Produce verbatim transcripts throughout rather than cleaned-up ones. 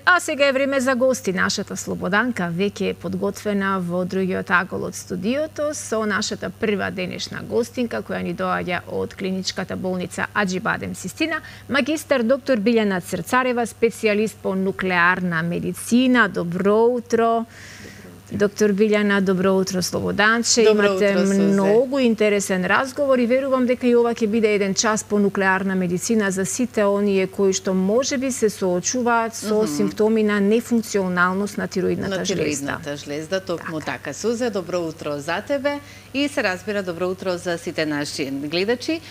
А сега е време за гости. Нашата Слободанка веќе е подготвена во другиот агол од студиото со нашата прва денешна гостинка која ни доаѓа од клиничката болница Аџибадем Систина, магистар доктор Билјана Црцарева, специјалист по нуклеарна медицина. Добро утро. Доктор Билјана, добро утро, Слободанче. Добро Имате утро, Сузе. многу интересен разговор и верувам дека и ова ќе биде еден час по нуклеарна медицина за сите оние кои што можеби се соочуваат со mm -hmm. симптоми на нефункционалност на тироидната на жлезда. тироидната жлезда, токму така. така. Сузе, добро утро за тебе и се разбира добро утро за сите наши гледачи.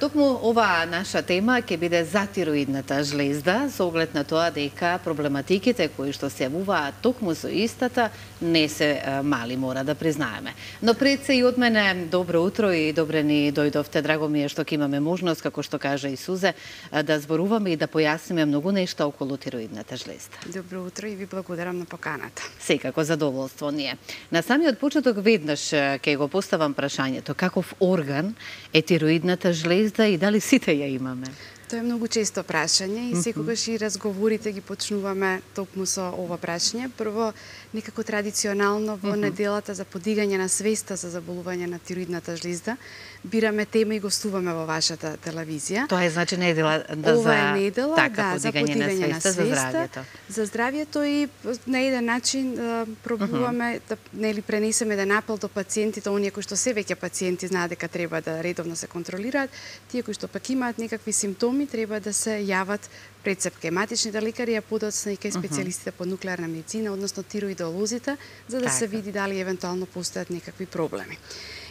Токму ова наша тема ќе биде за тироидната жлезда, со оглед на тоа дека проблематиките кои што се јавуваат токму со истата не се мали, мора да признаеме. Но пред се и од мене добро утро и добре ни дојдовте. Драго ми е што ќе имаме можност, како што кажа и Сузе, да зборуваме и да појасниме многу нешта околу тироидната жлезда. Добро утро и ви благодарам на поканата. Секако задоволство ни е. На самиот почеток веднаш ќе го поставам прашањето: каков орган е тироидната жлезда и дали сите ја имаме? Тоа е многу често прашање и секогаш и разговорите ги почнуваме токму со ова прашање. Прво, некако традиционално во неделата за подигање на свеста за заболување на тироидната жлезда, бираме тема и гостуваме во вашата телевизија. Тоа е значи недела да Ова за е недела, така, да, за подигање на свеста, за здравјето. За здравјето и на еден начин да, пробуваме uh -huh. да нели пренесеме еден апел до пациентите, оние кои што се веќе пациенти знаат дека треба да редовно се контролираат, тие кои што пак имаат некакви симптоми треба да се јават пред се хематичните лекари, а подоцна и кај специјалистите по нуклеарна медицина, односно тироидолозите, за да така се види дали евентуално постојат некакви проблеми.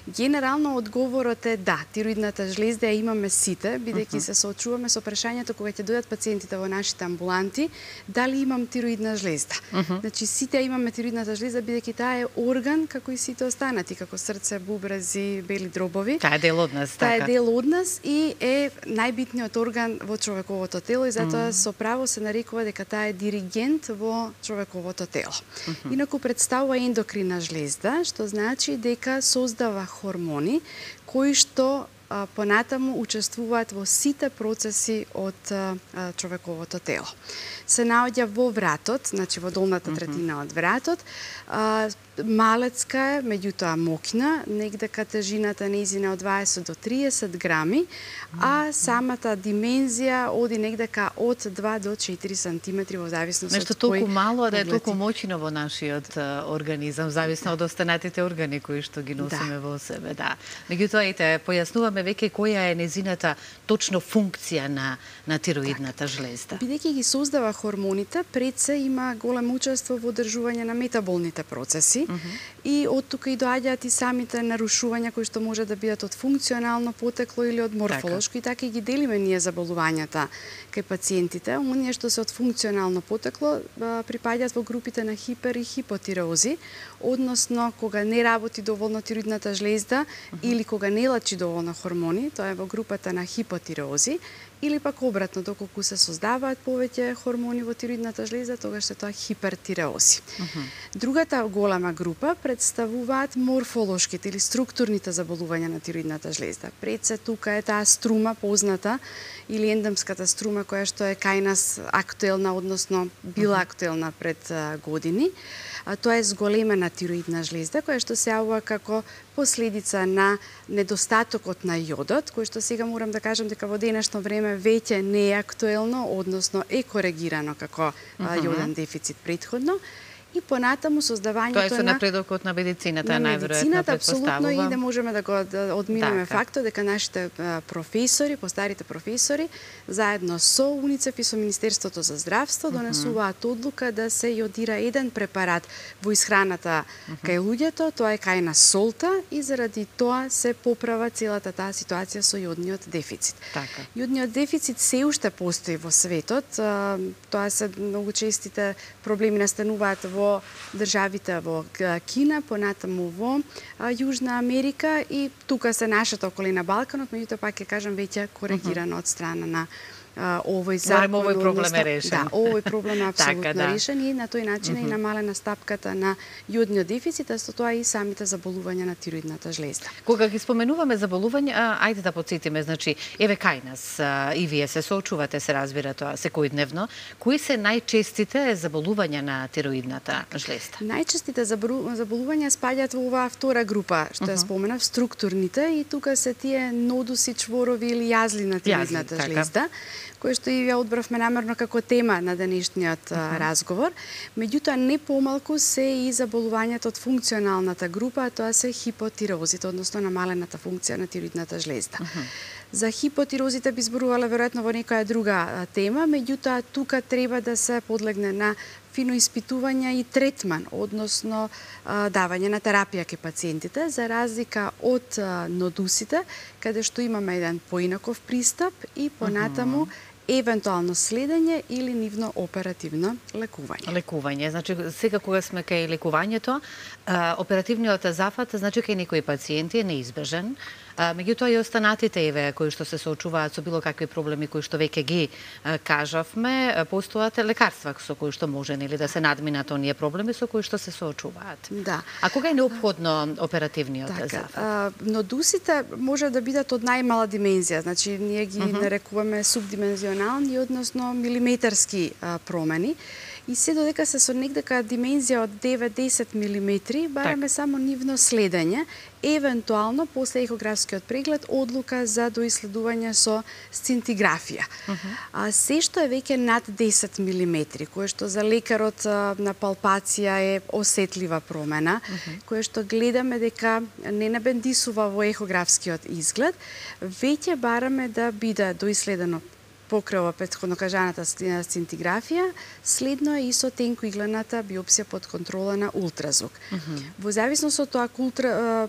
Генерално одговорот е да, тироидната жлезда ја имаме сите, бидејќи uh -huh. се соочуваме со прашањето кога ќе дојдат пациентите во нашите амбуланти, дали имам тироидна жлезда. Uh -huh. Значи сите имаме тироидната жлезда бидејќи таа е орган како и сите останати, како срце, бубрези, бели дробови. Таа е дел од нас, така. Таа е дел од нас и е најбитниот орган во човековото тело и затоа uh -huh. со право се нарекува дека таа е диригент во човековото тело. Uh -huh. Инаку представува ендокрина жлезда, што значи дека создава хормони кои што а, понатаму учествуваат во сите процеси од а, човековото тело. Се наоѓа во вратот, значи во долната третина од вратот, а, малецка е, меѓутоа мокна, негдека тежината нејзина од дваесет до триесет грами, а самата димензија оди негдека од два до четири сантиметри во зависност Нешто од кој толку мало, а да е поглед. толку моќно во нашиот организам, зависно од останатите органи кои што ги носиме да. во себе, да. Меѓутоа, ете, појаснуваме веќе која е незината точно функција на на тироидната так. жлезда. Бидејќи ги создава хормоните, пред се има големо учество во одржување на метаболните процеси. Uh -huh. И од тука и доаѓаат и самите нарушувања кои што може да бидат од функционално потекло или од морфолошко, така. И така и ги делиме ние заболувањата кај пациентите. Оние што се од функционално потекло припаѓаат во групите на хипер и хипотиреози, односно кога не работи доволно тироидната жлезда uh -huh. или кога не лачи доволно хормони, тоа е во групата на хипотиреози. Или пак обратно, доколку се создаваат повеќе хормони во тироидната жлезда, тогаш се тоа хипертиреози. Uh -huh. Другата голема група представуваат морфолошките или структурните заболувања на тироидната жлезда. Пред се тука е таа струма позната или ендемската струма која што е кај нас актуелна, односно била актуелна пред години. А тоа е зголемена тироидна жлезда која што се јавува како последица на недостатокот на јодот, кој што сега морам да кажам дека во денешно време веќе не е актуелно, односно е коригирано како uh -huh. јоден дефицит претходно. И понатаму создавањето Тоа е со на напредокот на медицината, на најверојатно медицината, апсолутно, и да можеме да го да одминеме така. фактот дека нашите професори, постарите професори, заедно со УНИЦЕФ и со Министерството за здравство донесуваат одлука да се јодира еден препарат во исхраната кај луѓето, тоа е кај нас солта, и заради тоа се поправа целата таа ситуација со јодниот дефицит. Така. Јодниот дефицит се уште постои во светот, тоа се многу честите проблеми настануваат во државите во Кина, понатаму во Јужна Америка и тука се нашата околина Балканот, меѓутоа пак ќе кажам веќе коригирано од страна на а, овој закон, овој проблем е решен. Да, овој проблем е апсолутно така, да. решен и на тој начин е намалена стапката на јодниот дефицит, а со тоа и самите заболувања на тироидната жлезда. Кога ги споменуваме заболувања, ајде да потсетиме, значи, еве кај нас и вие се соочувате, се разбира тоа секојдневно, кои се најчестите заболувања на тироидната жлезда? Најчестите заболувања спаѓаат во оваа втора група, што ја споменав, структурните, и тука се тие нодуси, чворови или јазли на тироидната жлезда, кои што и ја одбравме намерно како тема на денешниот uh -huh. разговор. Меѓутоа, не помалку се и заболувањата од функционалната група, а тоа се хипотирозите, односно намалената функција на тироидната жлезда. Uh -huh. За хипотирозите би зборувала веројатно во некоја друга тема, меѓутоа тука треба да се подлегне на фино испитување и третман, односно давање на терапија кај пациентите, за разлика од нодусите, каде што имаме еден поинаков пристап и понатаму евентуално следење или нивно оперативно лекување. Лекување, значи сега кога сме кај лекувањето, оперативниот зафат, значи кај некои пациенти е неизбежен, меѓутоа и останатите еве кои што се соочуваат со било какви проблеми кои што веќе ги кажавме, постојат лекарства со кои што може нели да се надминат оние проблеми со кои што се соочуваат. Да. А кога е неопходно оперативниот така, зафат? А, нодусите може да бидат од најмала димензија, значи ние ги uh -huh. нарекуваме субдимензионални, односно милиметарски а, промени. И се додека се со некака димензија од девет до десет милиметри, бараме так. само нивно следење, евентуално после ехографскиот преглед одлука за доиследување со сцинтиграфија. Uh -huh. А се што е веќе над десет милиметри, кое што за лекарот на палпација е осетлива промена, uh -huh. кое што гледаме дека не набендисува во ехографскиот изглед, веќе бараме да биде доиследено покрај ова претходно кажаната сцинтиграфија, следно е и со тенкоиглената биопсија под контрола на ултразвук. Uh -huh. Во зависност од тоа, ако ултра,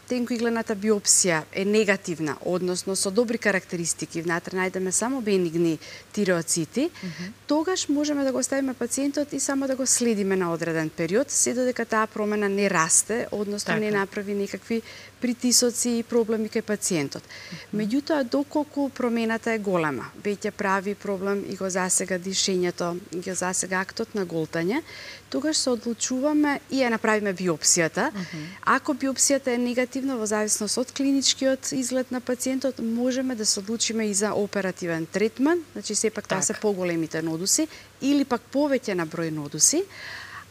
тенкоиглената биопсија е негативна, односно со добри карактеристики, внатре најдеме само бенигни тиреоцити, uh -huh. тогаш можеме да го оставиме пациентот и само да го следиме на одреден период, се додека таа промена не расте, односно така. не направи никакви притисоци и проблеми кај пациентот. Uh -huh. Меѓутоа, доколку промената е голема, веќе прави проблем и го засега дишењето, го засега актот на голтање, тогаш се одлучуваме и ја направиме биопсијата. Uh -huh. Ако биопсијата е негативна, во зависност од клиничкиот изглед на пациентот, можеме да се одлучиме и за оперативен третман, значи сепак тоа се поголемите нодуси, или пак повеќе на број нодуси.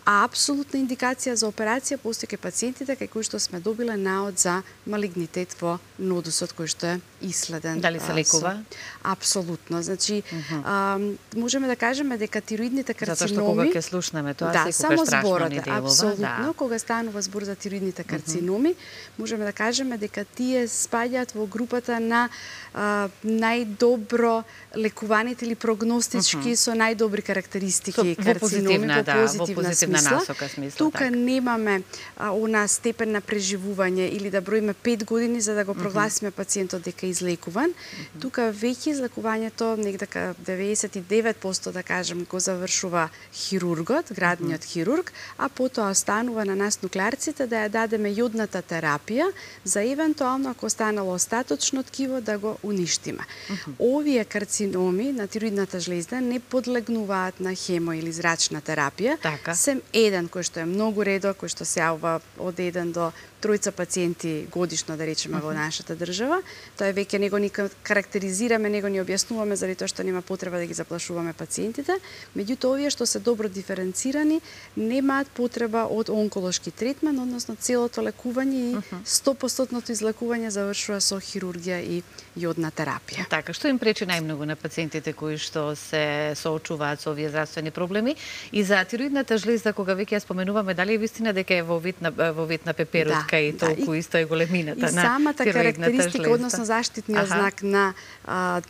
А апсолутна индикација за операција постои кај пациентите кај кои што сме добиле наод за малигнитет во нодусот кој што е исследен. Дали се лекува? Со... Апсолутно. Значи, uh -huh. а, можеме да кажеме дека тироидните карциноми... Затоа што кога ќе слушнеме тоа, да, секогаш страшно зборот, ни делува. Апсолутно. Да. Кога станува збор за тироидните карциноми, uh -huh. можеме да кажеме дека тие спаѓаат во групата на а, најдобро лекуваните или прогностички uh -huh. со најдобри карактеристики со, карциноми, во позитивна, по да, позитивна, во позитивна смисла. насока смисла. Тука так. немаме а, она степен на преживување или да броиме пет години за да го прогласиме uh -huh. пациентот дека е излекуван. Uh -huh. Тука веќе излекувањето негде деветдесет и девет проценти да кажем го завршува хирургот, градниот uh -huh. хирург, а потоа останува на нас нуклеарците да ја дадеме јодната терапија за евентуално ако останало остаточно ткиво да го уништиме. Uh -huh. Овие карциноми на тироидната жлезда не подлегнуваат на хемо или зрачна терапија, така. Сем еден кој што е многу редок, кој што се јавува од еден до тројца пациенти годишно, да речеме, uh -huh. во нашата држава. Тоа е веќе него ни карактеризираме, него ни објаснуваме заради тоа што нема потреба да ги заплашуваме пациентите. Меѓутоа, овие што се добро диференцирани, немаат потреба од онколошки третман, односно целото лекување и сто проценти излекување завршува со хирургија и јодна терапија. Така, што им пречи најмногу на пациентите кои што се соочуваат со овие здравствени проблеми и за тироидната жлезда, кога веќе ја споменуваме, дали е вистина дека е во вид на во вид на пеперутка? Да. И толку да, исто е големината на самата карактеристика, жлезда. односно заштитниот знак на а,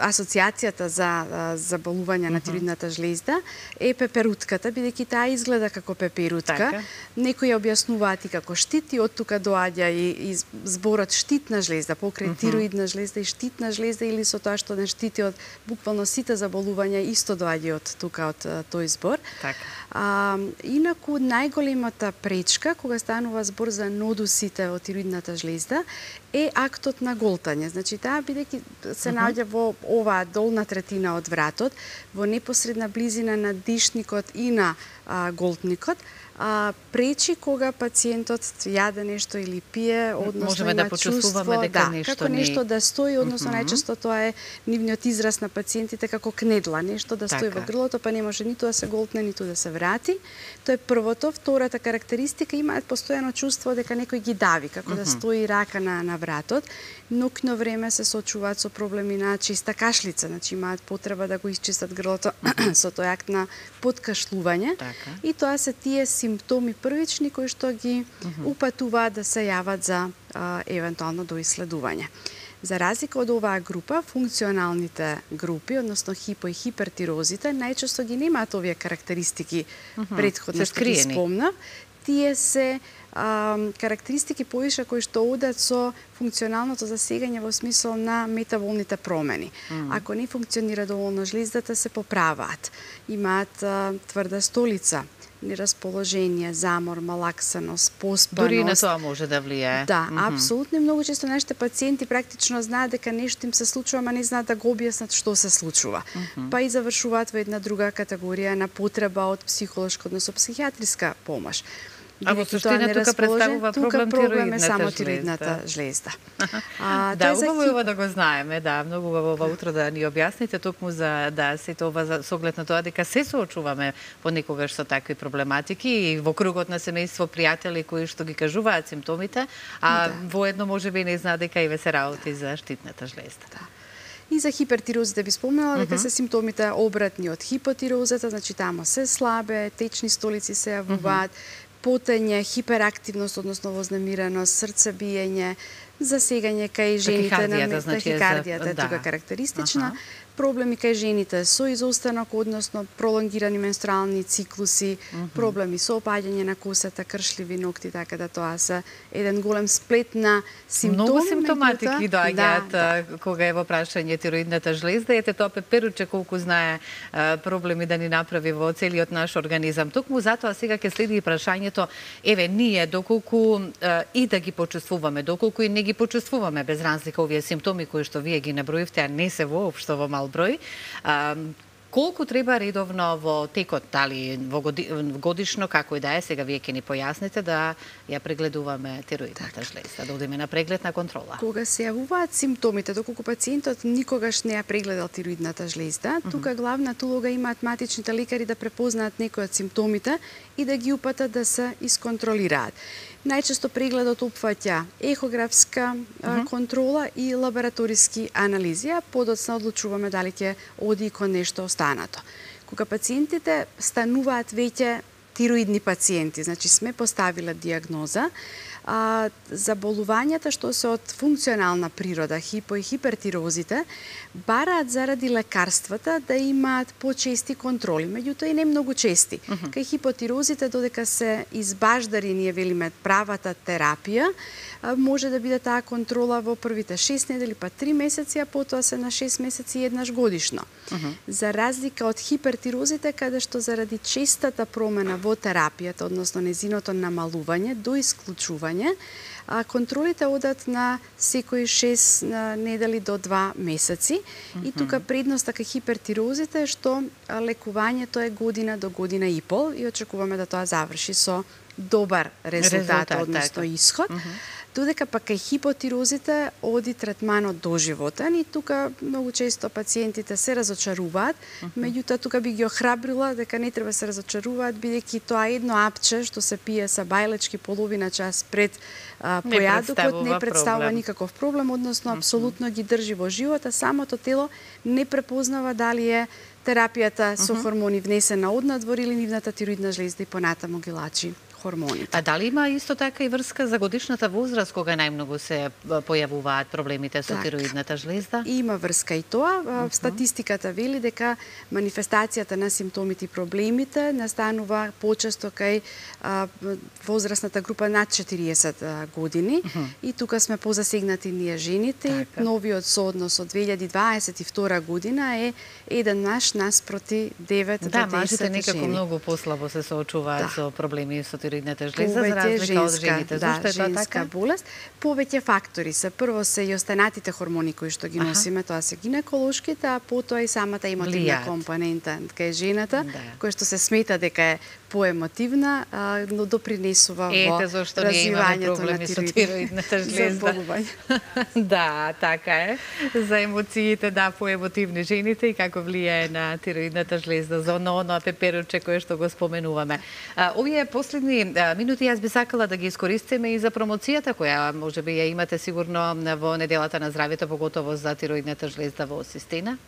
асоциацијата за заболување на тироидната жлезда е пеперутката, бидејќи таа изгледа како пеперутка. Така. Некои ја објаснуваат и како штит, и од тука доаѓа и, и зборот штитна жлезда, покрај uh -huh. тироидна жлезда и штитна жлезда, или со тоа што не штити од буквално сите заболувања, исто доаѓа од тука, од тој збор. Така. А, инаку, најголемата пречка, кога станува збор за нодусите од тироидната жлезда, е актот на голтање. Значи, таа бидејќи се наоѓа во оваа долна третина од вратот, во непосредна близина на дишникот и на а, голтникот, а, пречи кога пациентот јаде нешто или пие, односно можеме има да почувствуваме чувство, дека да, нешто како ни... нешто да стои, односно mm -hmm. најчесто тоа е нивниот израз на пациентите како кнедла, нешто да стои така. во грлото, па не може ниту да се голтне, ниту да се врати. Тоа е првото. Втората карактеристика, имаат постојано чувство дека некој ги дави, како mm -hmm. да стои рака на, на вратот. Ноќно време се соочуваат со проблеми на чиста кашлица, значи имаат потреба да го исчистат грлото со тој акт на подкашлување. Така. И тоа се тие симптоми првични кои што ги упатуваат да се јават за а, евентуално до исследување. За разлика од оваа група, функционалните групи, односно хипо и хипертирозите, најчесто ги немаат овие карактеристики претходно што ги спомнав. Тие се а, карактеристики повише кои што одат со функционалното засегање во смисол на метаболните промени. Mm. Ако не функционира доволно жлездата, се поправаат. Имаат а, тврда столица, нерасположение, замор, малаксаност, поспаност. Дури на тоа може да влијае. Да, mm -hmm. апсолутно. Многу често нашите пациенти практично знаат дека нешто им се случува, ама не знаат да го објаснат што се случува. Mm -hmm. Па и завршуваат во една друга категорија на потреба од психолошка, односно психијатриска помош. А во суштина тука представува проблем, проблем е само тироидната жлезда. А, да, убаво е ова да го знаеме, да, многу убаво ова утро да ни објасните, токму за да сето ова за соглед на тоа дека се соочуваме понекогаш со такви проблематики и во кругот на семејство, пријатели кои што ги кажуваат симптомите, а да. Воедно можеби не знаат дека и се работи за штитната жлезда. Да. И за хипертирозите би спомнала дека mm -hmm. се симптомите обратни од хипотирозата, значи тамо се слабе, течни столици се јавуваат, mm -hmm. потење, хиперактивност, односно вознемиреност, срцебиење, засегање кај жените на тахикардијата е тука карактеристична. Аха. Проблеми кај жените со изостанок, односно пролонгирани менструални циклуси, mm -hmm. проблеми со опаѓање на косата, кршливи ногти, така да тоа се еден голем сплет на симптоми. Многу симптоматики доаѓаат да, да. Кога е во прашање тироидната жлезда. Ете тоа пеперуче колку знае а, проблеми да ни направи во целиот наш организам. Токму затоа сега ќе следи и прашањето, еве ние доколку а, и да ги почувствуваме, доколку и не ги почувствуваме без разлика овие симптоми кои што вие ги наброивте, а не се воопшто во мал број. А, колку треба редовно во текот, дали во годи, годишно, како и да е, сега вие ќе ни појасните, да ја прегледуваме тироидната так. жлезда, да одиме на преглед на контрола? Кога се јавуваат симптомите, доколку пациентот никогаш не ја прегледал тироидната жлезда, mm -hmm. тука главната улога имаат матичните лекари да препознаат некои од симптомите и да ги упатат да се исконтролираат. Најчесто прегледот опфаќа ехографска mm -hmm. контрола и лабораториски анализи, а подоцна одлучуваме дали ќе оди кон нешто останато. Кога пациентите стануваат веќе тироидни пациенти, значи сме поставиле диагноза, а, заболувањата што се од функционална природа, хипо и хипертирозите, бараат заради лекарствата да имаат почести контроли, меѓутоа и не многу чести. Uh -huh. Кај хипотирозите, додека се избаждари, ние велиме правата терапија, може да биде таа контрола во првите шест недели, па три месеци, а потоа се на шест месеци еднаш годишно. Uh -huh. За разлика од хипертирозите, каде што заради честата промена во терапијата, односно незиното намалување до исклучување, а контролите одат на секои шест недели до два месеци. Mm -hmm. И тука предноста кај хипертирозите е што лекувањето е година до година и пол и очекуваме да тоа заврши со добар резултат, резултат односно така. Исход. Mm -hmm. Додека па кај хипотирозите оди третманот доживотен и тука многу често пациентите се разочаруваат, uh -huh. меѓутоа тука би ги охрабрила дека не треба се разочаруваат, бидејќи тоа едно апче што се пие са бајлечки половина час пред а, појадокот не представува проблем. Никаков проблем, односно uh -huh. апсолутно ги држи во живот, а самото тело не препознава дали е терапијата со uh -huh. хормони внесена однадвор или нивната тироидна жлезда и понатаму ги лачи хормоните. А дали има исто така и врска за годишната возраст кога најмногу се појавуваат проблемите со так. тироидната жлезда? Има врска и тоа. Uh -huh. Статистиката вели дека манифестацијата на симптомите и проблемите настанува почесто кај а, возрастната група над четириесет години. Uh -huh. И тука сме позасегнати ние жените. Така. Новиот сооднос од две илјади дваесет и втора година е еден наш наспроти девет да, до десет мажите некако жени. многу послабо се соочуваат да. со проблеми со тироидната тироидната жлезда за разлика од жените. Да, Зошто е тоа женска така? болест. Повеќе фактори се. Прво се и останатите хормони кои што ги носиме, тоа се гинеколошките, а потоа и самата емотивна Влијаат. компонента кај жената, Да. која што се смета дека е поемотивна, а, но допринесува во Ете зошто ние имаме развивањето на проблеми со тироидната тироидната жлезда. Да, така е. За емоциите, да, поемотивни жените и како влијае на тироидната жлезда, за оно, оно пеперуче кое што го споменуваме. А, овие последни а, минути јас би сакала да ги искористиме и за промоцијата која можеби ја имате сигурно во неделата на здравјето, поготово за тироидната жлезда во Систина.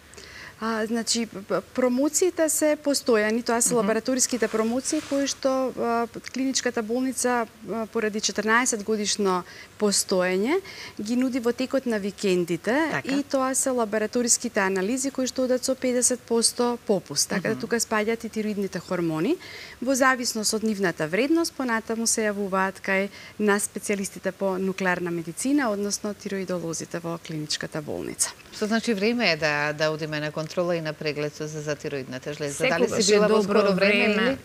А, значи, п- промоциите се постојани, тоа се лабораториските промоции кои што а, клиничката болница а, поради четрнаесет годишно постоење ги нуди во текот на викендите, Така. и тоа се лабораториските анализи кои што одат со педесет проценти попуст. Така да тука спаѓаат и тироидните хормони. Во зависност од нивната вредност, понатаму се јавуваат кај на специјалистите по нуклеарна медицина, односно тироидолозите во клиничката болница. Што значи време е да да одиме на контрола и на преглед со за тироидната жлезда. Дали Секогаш си е била во добро скоро време време. или?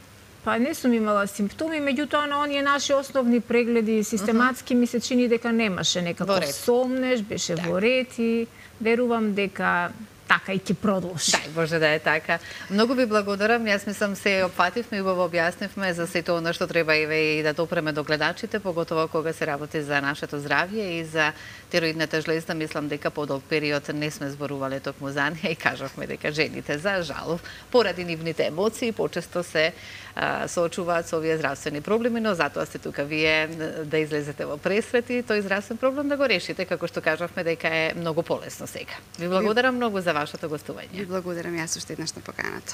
Па не сум имала симптоми, меѓутоа на оние наши основни прегледи систематски ми се чини дека немаше Во некако ред. сомнеш, беше во ред и верувам дека така и ќе продолжи. Дај Боже да е така. Многу ви благодарам. Јас мислам се опфативме и убаво објаснивме за сето она што треба и да допреме до гледачите, поготово кога се работи за нашето здравје и за тироидната жлезда. Мислам дека подолг период не сме зборувале токму за неја и кажавме дека жените за жал поради нивните емоции почесто се а, соочуваат со овие здравствени проблеми, но затоа сте тука вие да излезете во пресвет и тој здравствен проблем да го решите, како што кажавме дека е многу полесно сега. Ви благодарам многу за вашето гостување. Ви благодарам јас уште еднаш на поканата.